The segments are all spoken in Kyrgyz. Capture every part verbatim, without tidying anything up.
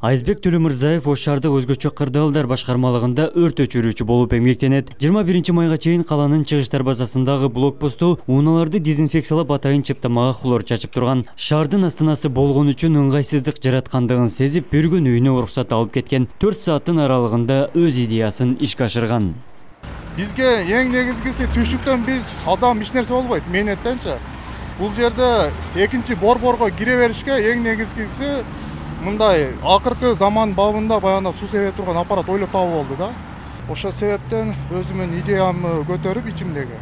Айзбек Төлөмүрзаев Ош шаардык өзгөчө кырдаалдар башкармалыгында өрт өчүрүүчү болуп эмгектенет. жыйырма биринчи майга чейин каланын чыгыш дарбазасындагы блокпосту унааларды дезинфекциялап атайын чыптамага хлор чачып турган. Шаардын астанасы болгон үчүн ыңгайсыздык жараткандыгын сезип, бир күн үйүнө уруксат алып кеткен. төрт сааттын аралыгында өз идеясын ишке ашырган. Бизге эң негизгиси түшүктөн биз адам эч нерсе болбойт, мээнеттенчи. Бул жерде экинчи борборго кире беришке эң негизгиси мындай акыркы заман бабында баягы суу себе турган аппарат ойлоп табуу болду да. Ошол себептен өзүмдүн идеямды көтөрүп ичимдеги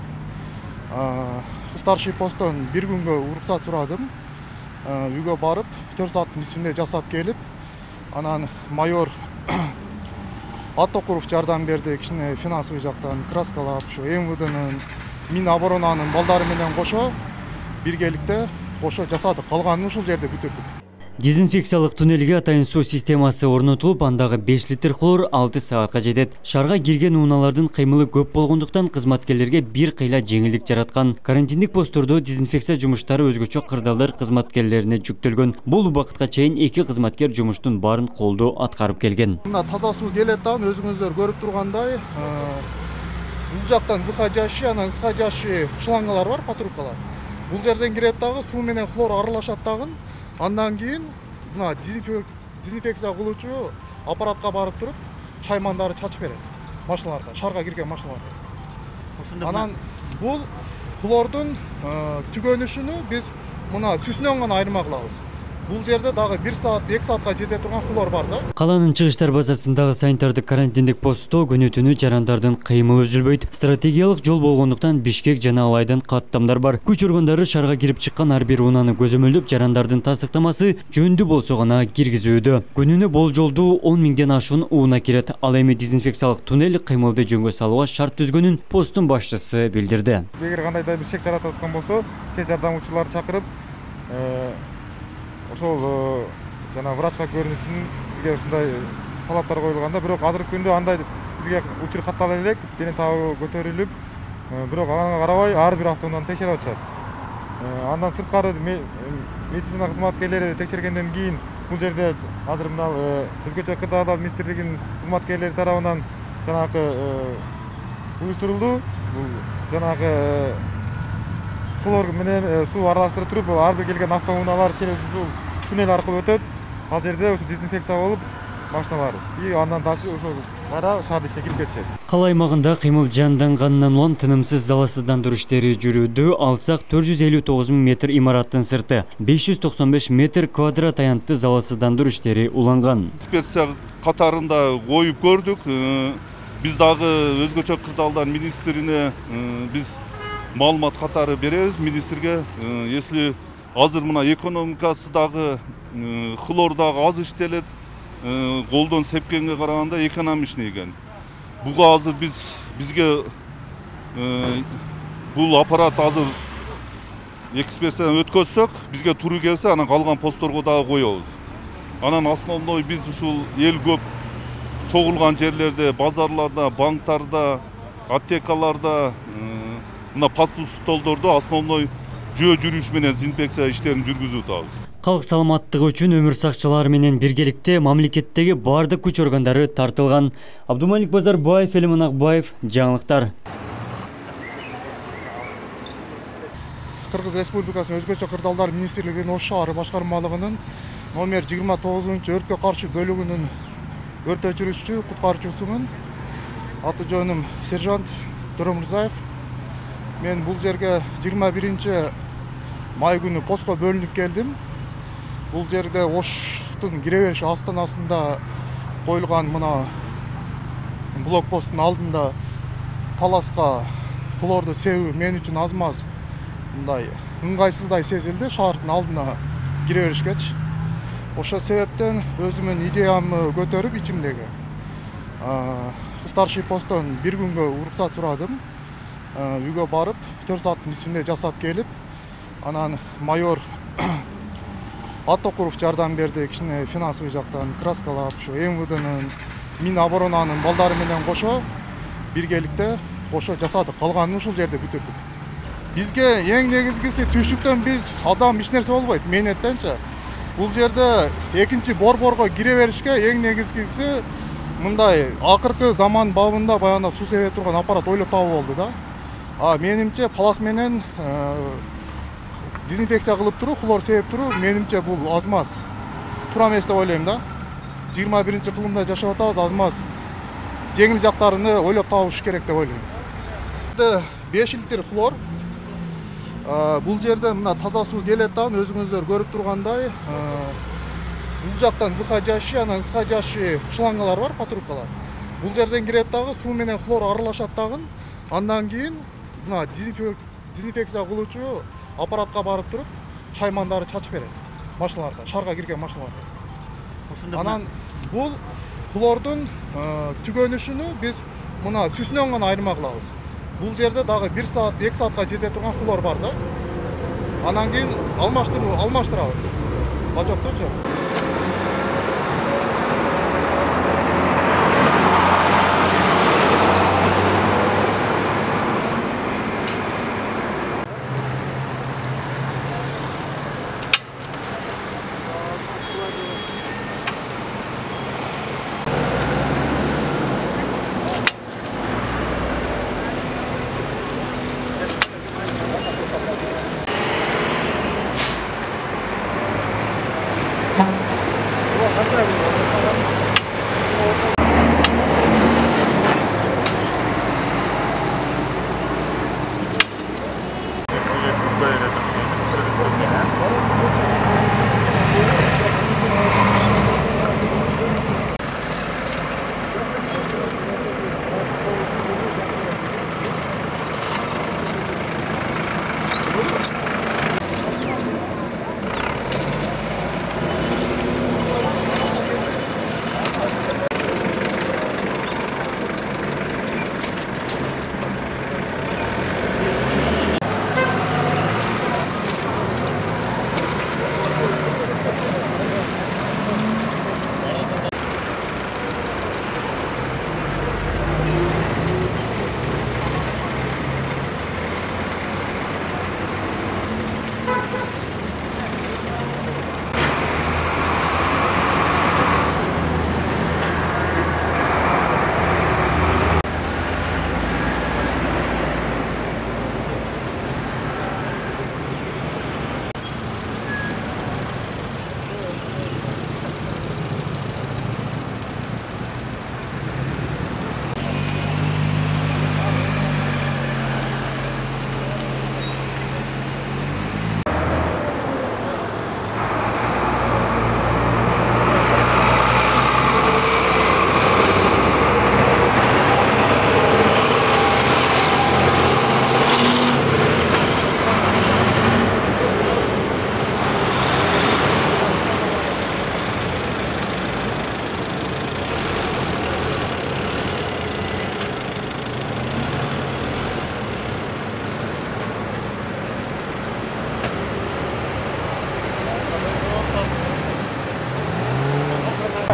старший посттон бир күнгө уруксат сурадым. Үйгө барып төрт сааттын ичинде жасап келип, анан майор Аттокуров жардам берди, кичине финансовый жактан краскалап, ушу эм вэ дэнин, Миноборонанын балдары менен кошо биргеликте кошо жасадык. Калганын ушул жерде бүтүрдүк. Дезинфекциялык туннелге атайын суу системасы орнотулуп, андагы беш литр хлор алты саатка жетет. Шаарга кирген унаалардын кыймылы көп болгондуктан кызматкерлерге бир кыйла жеңилдик жараткан. Карантиндик посттордо дезинфекция жумуштары өзгөчө кырдаалдар кызматкерлерине жүктөлгөн. Бул убакытка чейин эки кызматкер жумуштун баарын колдоо аткарып келген. Мына таза суу келет да, өзүңүздөр көрүп тургандай, бул жактан выходящий, анан исходящий шлангалар бар, патрубкалар. Бул жерден кирет дагы, суу менен хлор аралашат дагы. Андан кийин мына дезинфекция кылуучу аппаратка барып туруп, шаймандарды чачып берет машиналарга, шаарга кирген машиналарга. Анан бул хлордун түгөнүшүнү биз мына түсүнөн гана айырма кылабыз. Бул жерде дагы бир саат, эки саатка жете турган хлор бар да. Каланын чыгыш дарбазасындагы санитардык карантиндик постто күнү-түнү жарандардын кыймылы үзүлбөйт. Стратегиялык жол болгондуктан Бишкек жана Алайдан каттамдар бар. Күч органдары шаарга кирип чыккан ар бир унааны көзөмөлдөп, жарандардын тастыктамасы жөндүү болсо гана киргизүүдө. Күнүнө болжолдуу он миңден ашуун унаа кирет. Ал эми дезинфекциялык туннель кыймылды жөнгө салууга шарт түзгөнүн посттун башчысы билдирди. Эгер кандайдыр бир шек жаратып аткан болсо, тез жардамчыларды чакырып, ошол жана врачка көрүнүшүн бизге ушундай талаптар коюлганда, бирок азыркы күндө андай бизге учур каттала элек, дене табы көтөрүлүп, бирок ага карабай ар бир автоунааны текшерип атышат. Андан сырткары медицина кызматкерлери текшергенден кийин бул жерде азыр мына өзгөчө кырдаалдар министрлигинин кызматкерлери тарабынан жанагы уюштурулду. Бул жанагы хлор менен суу аралаштырып туруп, ар бир келген автоунаалар ушул туннель аркылуу өтөт. Ал жерде ошо дезинфекция болуп, машиналар и андан дальше ошо кайра шаардын ичине кирип кетишет. Кала аймагында кыймыл жанданганынан улам тынымсыз залалсыздандыруу иштери жүрүүдө. Алсак төрт жүз элүү тогуз миң метр имараттын сырты, беш жүз токсон беш метр квадрат аянтты залалсыздандыруу иштери уланган. Инспекция катарында коюп көрдүк. Биз дагы өзгөчө кырдаалдар министрине биз маалымат катары беребиз министрге. Если азыр мына экономикасы дагы хлор дагы аз иштелет, колдон сепкенге караганда экономичный экен. Буга азыр биз бизге бул аппарат азыр экспертизадан өткөзсөк, бизге туура келсе, анан калган постторго дагы коебуз. Анан основной биз ушул эл көп чогулган жерлерде, базарларда, банктарда, аптекаларда, мына пастбук столдордо основной жөө жүрүш менен дезинфекция иштерин жүргүзүп атабыз. Калк саламаттыгы үчүн өмүр сакчылары менен биргеликте мамлекеттеги бардык күч органдары тартылган. Абдумалик Базарбаев, Элиман Акбаев, жаңылыктар. Кыргыз Республикасынын өзгөчө кырдаалдар министрлигинин Ош шаары башкармалыгынын номер жыйырма тогузунчу өрткө каршы бөлүгүнүн өрт өчүрүүчү куткаруучусумун. Аты жөнүм сержант Төлөмүрзаев. Мен бул жерге жыйырма биринчи май күнү постко бөлүнүп келдим. Бул жерде Оштун кире бериш астанасында коюлган мына блокпосттун алдында таласка хлорду себүү мен үчүн аз маз мындай ыңгайсыздай сезилди шаардын алдына кире беришкечи. Ошол себептен өзүмдүн идеямды көтөрүп ичимдеги старший посттон бир күнгө уруксат сурадым. Үйгө барып төрт сааттын ичинде жасап келип, анан майор Аттокуров жардам берди, кичине финансовый жактан краскалап, ушу эм вэ дэнин, Миноборонанын балдары менен кошо биргеликте кошо жасадык. Калганын ушул жерде бүтүрдүк. Бизге эң негизгиси түшүктөн биз адам эч нерсе болбойт, мээнеттенчи. бул жерде экинчи борборго кире беришке эң негизгиси мындай акыркы заман бабында баягы суу себе турган аппарат ойлоп табуу болду да. А менимче палас менен дезинфекция кылып туруу, хлор себип туруу менимче бул аз маз туура эмес деп ойлойм да. жыйырма биринчи кылымда жашап атабыз, аз маз жеңил жактарыны ойлоп табыш керек деп ойлойм. беш литр хлор. Бул жерде мына таза суу келет да, өзүңүздөр көрүп тургандай. Бул жактан выходящий, анан исходящий шлангалар бар, патрубкалар. Бул жерден кирет дагы, суу менен хлор аралашат дагы. Андан кийин мына дезинфекция кылуучу аппаратка барып туруп, шаймандарды чачып берет машиналарга, шаарга кирген машиналарга. Анан бул хлордун түгөнүшүнү биз мына түсүнөн гана айырма кылабыз. Бул жерде дагы бир саат, эки саатка жете турган хлор бар да. Анан кийин алмаштыруу, алмаштырабыз. Бачокточу.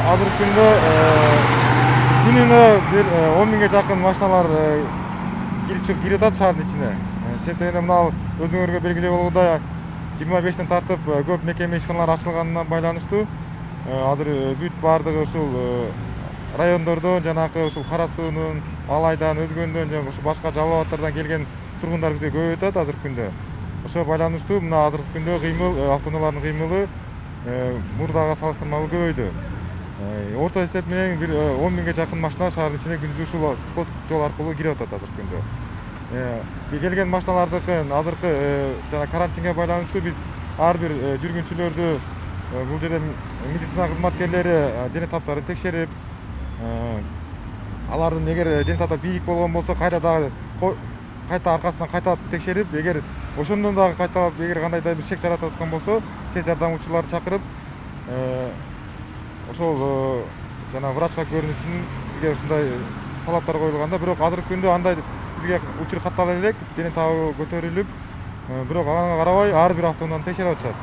Азыркы күндө күнүнө бир он миңге жакын машиналар кирип чыгып кирип атат шаардын ичине. Себеби мына өзүңөргө белгилүү болгондой жыйырма бештен тартып көп мекеме ишканалар ачылганына байланыштуу азыр бүт баардыгы ушул райондордон жанагы ушул Кара суунун, Алайдан, Өзгөндөн жана ушул башка жалал абадтардан келген тургундар бизге көп атат азыркы күндө. Ошого байланыштуу мына азыркы күндө кыймыл, автоунаалардын кыймылы мурдага салыштырмалуу көбөйдү. Орто эсеп менен бир он миңге жакын машина шаардын ичине күндүз ушул пост жол аркылуу кирип атат азыркы күндө. Келген машиналардыкын азыркы жана карантинге байланыштуу биз ар бир жүргүнчүлөрдү бул жерде медицина кызматкерлери дене таптарын текшерип, алардын эгер дене таптары бийик болгон болсо кайра дагы кайта аркасынан кайта текшерип, эгер ошондон дагы кайталап эгер кандайдыр бир шек жаратып аткан болсо тез жардамчыларды чакырып ошол жана врачка көрүнүшүн бизге ушундай талаптар коюлганда, бирок азыркы күндө андай бизге учур каттала элек, дене табы көтөрүлүп, бирок ага карабай ар бир автоунааны текшерип атышат.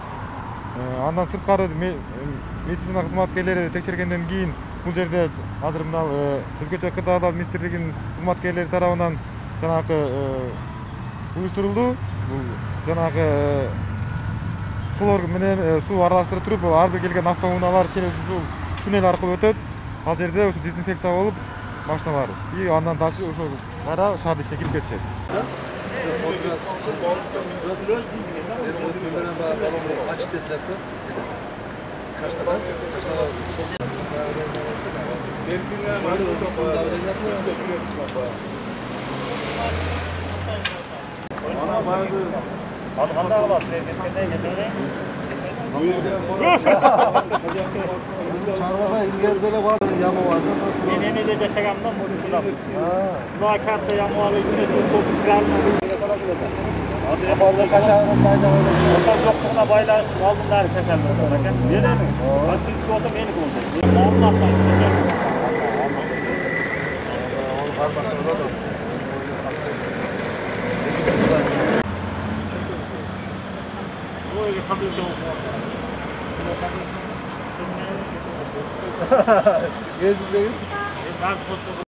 Андан сырткары медицина кызматкерлери текшергенден кийин бул жерде азыр мына өзгөчө кырдаалдар министрлигинин кызматкерлери тарабынан жанагы уюштурулду. Бул жанагы хлор менен суу аралаштыра туруп, ар бир келген автоунаалар шеребсиз суу туннель аркылуу өтөт. Ал жерде ошо дезинфекция болуп машиналар и андан дальше ошо кайра шаардын ичине кирип кетишет. Çarmıha İngilizce'de var yama vardı. Ben Eme'de yaşagandan bunu kullandım. Buna kartta yamalı içine su doldurup kiralım. Orada kaşağının faydaları. Ortam yokluğuna baylar aldımlar kaşarlı olsun. Verir mi? Asıllık olsa beni olacak. Anlatmayın. Onu karmasında da. Böyle kabul ediyorum. Gezmeyin. Ben fotoğrafı